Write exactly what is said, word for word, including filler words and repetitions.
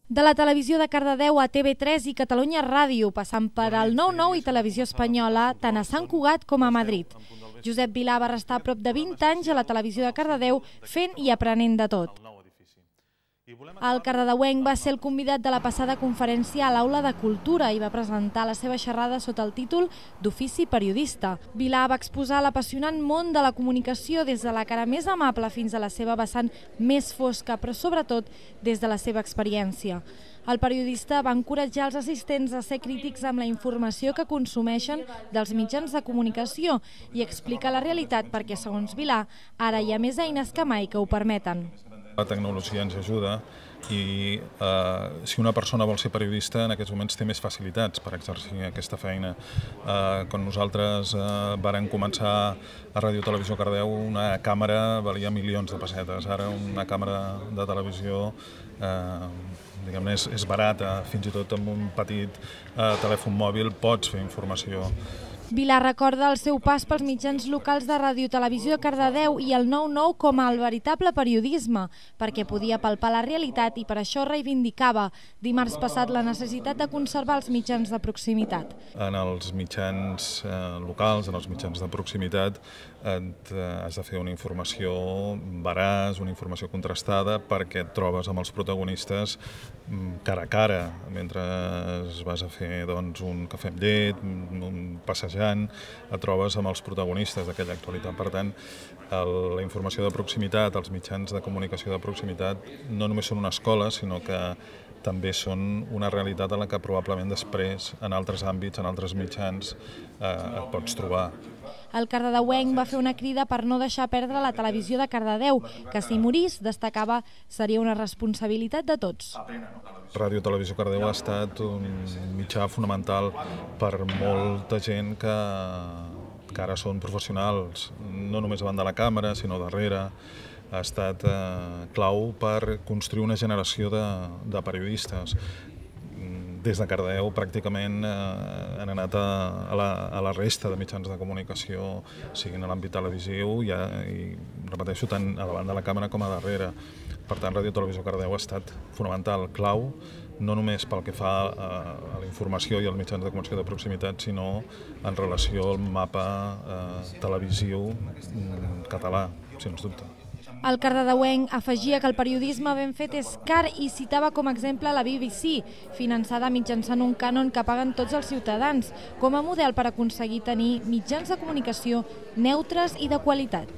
De la televisió de Cardedeu a T V tres i Catalunya Ràdio, passant per el nou nou i Televisió Espanyola, tant a Sant Cugat com a Madrid. Josep Vilà va restar a prop de vint anys a la televisió de Cardedeu fent i aprenent de tot. El cardedeuenc va ser el convidat de la passada conferència a l'Aula de Cultura i va presentar la seva xerrada sota el títol d'Ofici periodista. Vilà va exposar l'apassionant món de la comunicació des de la cara més amable fins a la seva vessant més fosca, però sobretot des de la seva experiència. El periodista va encoratjar els assistents a ser crítics amb la informació que consumeixen dels mitjans de comunicació i explicar la realitat perquè, segons Vilà, ara hi ha més eines que mai que ho permeten. La tecnologia ens ajuda i eh, si una persona vol ser periodista en aquests moments té més facilitats per exercir aquesta feina. Eh, quan nosaltres eh, vàrem començar a Ràdio Televisió Cardedeu, una càmera valia milions de pessetes. Ara una càmera de televisió eh, diguem-ne és, és barata, fins i tot amb un petit eh, telèfon mòbil pots fer informació. Vilà recorda el seu pas pels mitjans locals de Ràdio Televisió de Cardedeu i el nou nou com el veritable periodisme, perquè podia palpar la realitat i per això reivindicava dimarts passat la necessitat de conservar els mitjans de proximitat. En els mitjans eh, locals, en els mitjans de proximitat, et, eh, has de fer una informació veraç, una informació contrastada, perquè et trobes amb els protagonistes cara a cara, mentre vas a fer doncs, un cafè amb llet, un passejant, et trobes amb els protagonistes d'aquella actualitat. Per tant, el, la informació de proximitat, els mitjans de comunicació de proximitat, no només són una escola, sinó que també són una realitat en la que probablement després, en altres àmbits, en altres mitjans, eh, et pots trobar. El cardedeuenc va fer una crida per no deixar perdre la televisió de Cardedeu, que si morís, destacava, seria una responsabilitat de tots. Ràdio Televisió Cardedeu ha estat un mitjà fonamental per molta gent que, que ara són professionals, no només davant de la càmera, sinó darrere. Ha estat eh, clau per construir una generació de, de periodistes. Des de Cardedeu pràcticament eh, han anat a, a, la, a la resta de mitjans de comunicació, siguin a l'àmbit televisiu i, i repeteixo, tant a davant de la càmera com a darrere. Per tant, Ràdio Televisió Cardedeu ha estat fonamental, clau, no només pel que fa a, a la informació i als mitjans de comunicació de proximitat, sinó en relació al mapa eh, televisiu català, sens dubte. El cardedeuenc afegia que el periodisme ben fet és car i citava com a exemple la B B C, finançada mitjançant un cànon que paguen tots els ciutadans, com a model per aconseguir tenir mitjans de comunicació neutres i de qualitat.